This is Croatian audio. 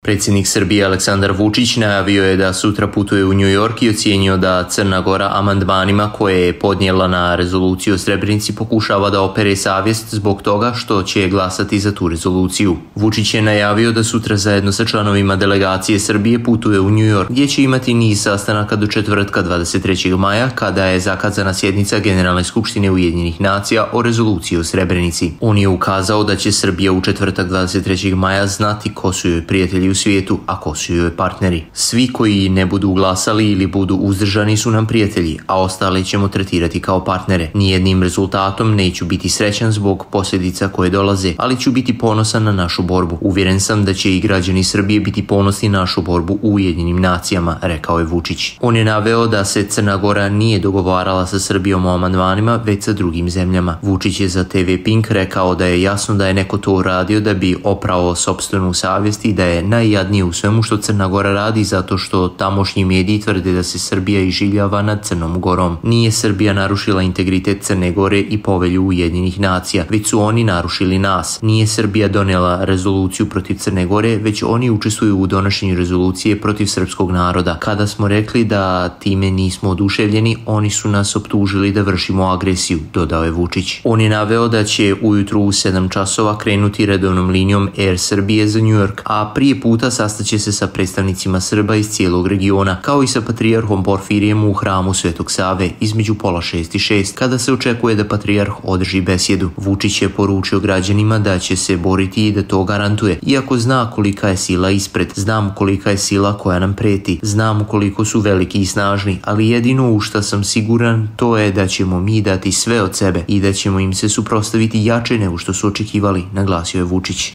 Predsjednik Srbije Aleksandar Vučić najavio je da sutra putuje u New York i ocijenio da Crna Gora amandmanima koje je podnijela na rezoluciju o Srebrenici pokušava da opere savjest zbog toga što će glasati za tu rezoluciju. Vučić je najavio da sutra zajedno sa članovima delegacije Srbije putuje u New York, gdje će imati niz sastanaka do četvrtka 23. maja kada je zakazana sjednica Generalne skupštine Ujedinjenih nacija o rezoluciji o Srebrenici. On je ukazao da će Srbija u četvrtak 23. maja znati ko su joj prijatelji u svijetu, a ko su joj partneri. Svi koji ne budu glasali ili budu uzdržani su nam prijatelji, a ostale ćemo tretirati kao partnere. Nijednim rezultatom neću biti srećan zbog posljedica koje dolaze, ali ću biti ponosan na našu borbu. Uvjeren sam da će i građani Srbije biti ponosni na našu borbu u Ujedinjenim nacijama, rekao je Vučić. On je naveo da se Crna Gora nije dogovarala sa Srbijom o amandmanima, već sa drugim zemljama. Vučić je za TV Pink rekao da je jasno da je neko to uradio da bi oprao sopstvenu savjest i da je najjadnije u svemu što Crna Gora radi zato što tamošnji mediji tvrde da se Srbija iživljava nad Crnom Gorom. Nije Srbija narušila integritet Crne Gore i povelju Ujedinjenih nacija, već su oni narušili nas. Nije Srbija donijela rezoluciju protiv Crne Gore, već oni učestvuju u donošenju rezolucije protiv srpskog naroda. Kada smo rekli da time nismo oduševljeni, oni su nas optužili da vršimo agresiju, dodao je Vučić. On je naveo da će ujutru u 7 časova krenuti redovnom linijom Air Srbije za New York, a prije puta sastaće se sa predstavnicima Srba iz cijelog regiona, kao i sa patrijarhom Porfirijem u hramu Svetog Save između 5:30 i 6, kada se očekuje da patrijarh održi besjedu. Vučić je poručio građanima da će se boriti i da to garantuje, iako zna kolika je sila ispred, znam kolika je sila koja nam preti, znam koliko su veliki i snažni, ali jedino u što sam siguran to je da ćemo mi dati sve od sebe i da ćemo im se suprotstaviti jače nego što su očekivali, naglasio je Vučić.